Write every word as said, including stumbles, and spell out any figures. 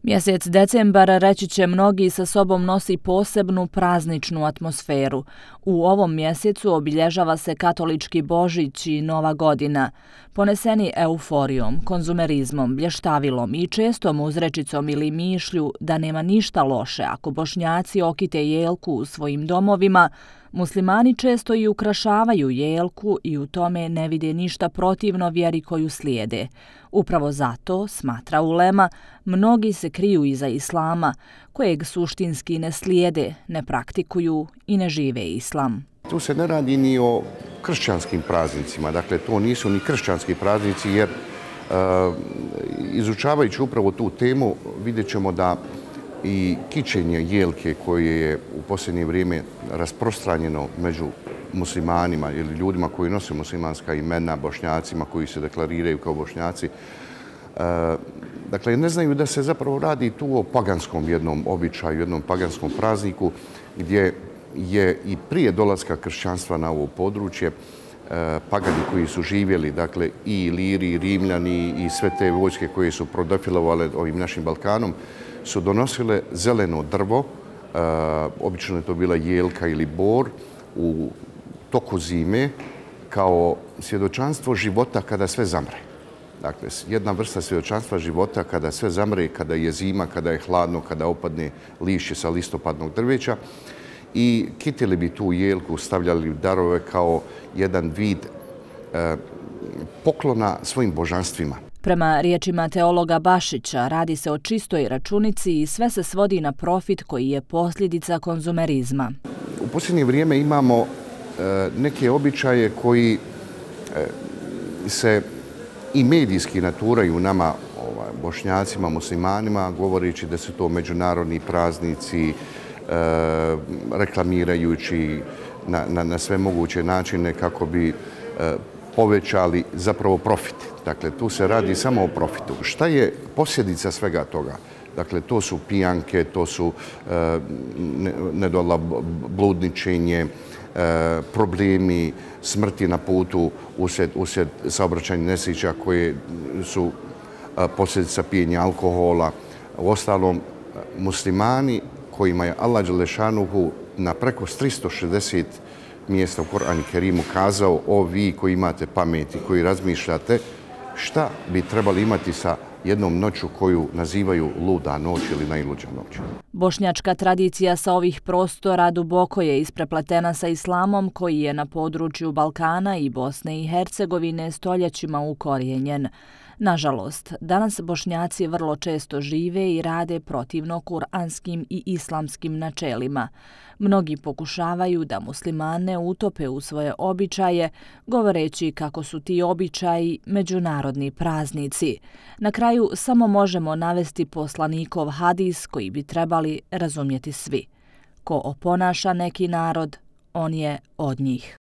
Mjesec decembar, reći će mnogi, sa sobom nosi posebnu prazničnu atmosferu. U ovom mjesecu obilježava se katolički Božić i Nova godina, poneseni euforijom, konzumerizmom, blještavilom i čestom uzrečicom ili mišlju da nema ništa loše ako Bošnjaci okite jelku u svojim domovima. Muslimani često i ukrašavaju jelku i u tome ne vide ništa protivno vjeri koju slijede. Upravo zato, smatra ulema, mnogi se kriju iza islama, kojeg suštinski ne slijede, ne praktikuju i ne žive islam. Tu se ne radi ni o kršćanskim praznicima, dakle to nisu ni kršćanski praznici jer uh, izučavajući upravo tu temu vidjet ćemo da i kićenje jelke koje je u posljednje vrijeme rasprostranjeno među muslimanima ili ljudima koji nose muslimanska imena, Bošnjacima koji se deklariraju kao Bošnjaci. E, dakle, ne znaju da se zapravo radi tu o paganskom jednom običaju, jednom paganskom prazniku gdje je i prije dolaska kršćanstva na ovo područje e, pagani koji su živjeli, dakle i Iliri, i Rimljani i sve te vojske koje su prodefilovale ovim našim Balkanom, su donosile zeleno drvo, e, obično je to bila jelka ili bor, u toku zime kao svjedočanstvo života kada sve zamre. Dakle, jedna vrsta svjedočanstva života kada sve zamre, kada je zima, kada je hladno, kada opadne lišće sa listopadnog drveća. I kitili bi tu jelku, stavljali darove kao jedan vid e, poklona svojim božanstvima. Prema riječima teologa Bašića, radi se o čistoj računici i sve se svodi na profit koji je posljedica konzumerizma. U posljednje vrijeme imamo e, neke običaje koji e, se i medijski naturaju nama, ovaj, Bošnjacima, muslimanima, govoreći da su to međunarodni praznici, e, reklamirajući na, na, na sve moguće načine kako bi e, povećali zapravo profit. Dakle, tu se radi samo o profitu. Šta je posljedica svega toga? Dakle, to su pijanke, to su e, nedola bludničenje, e, problemi, smrti na putu usred, usred saobraćajnih nesreća koje su e, posljedica pijenja alkohola. Uostalom, muslimani kojima je Allah Đelešanuhu na preko tristo šezdeset mjesta u Koranu Kerimu kazao: o vi koji imate pameti, koji razmišljate, šta bi trebali imati sa jednom noću koju nazivaju luda noć ili najluđa noć. Bošnjačka tradicija sa ovih prostora duboko je isprepletena sa islamom koji je na području Balkana i Bosne i Hercegovine stoljećima ukorijenjen. Nažalost, danas Bošnjaci vrlo često žive i rade protivno kuranskim i islamskim načelima. Mnogi pokušavaju da muslimane utope u svoje običaje, govoreći kako su ti običaji međunarodni praznici. Na kraju samo možemo navesti poslanikov hadis koji bi trebali razumjeti svi. Ko oponaša neki narod, on je od njih.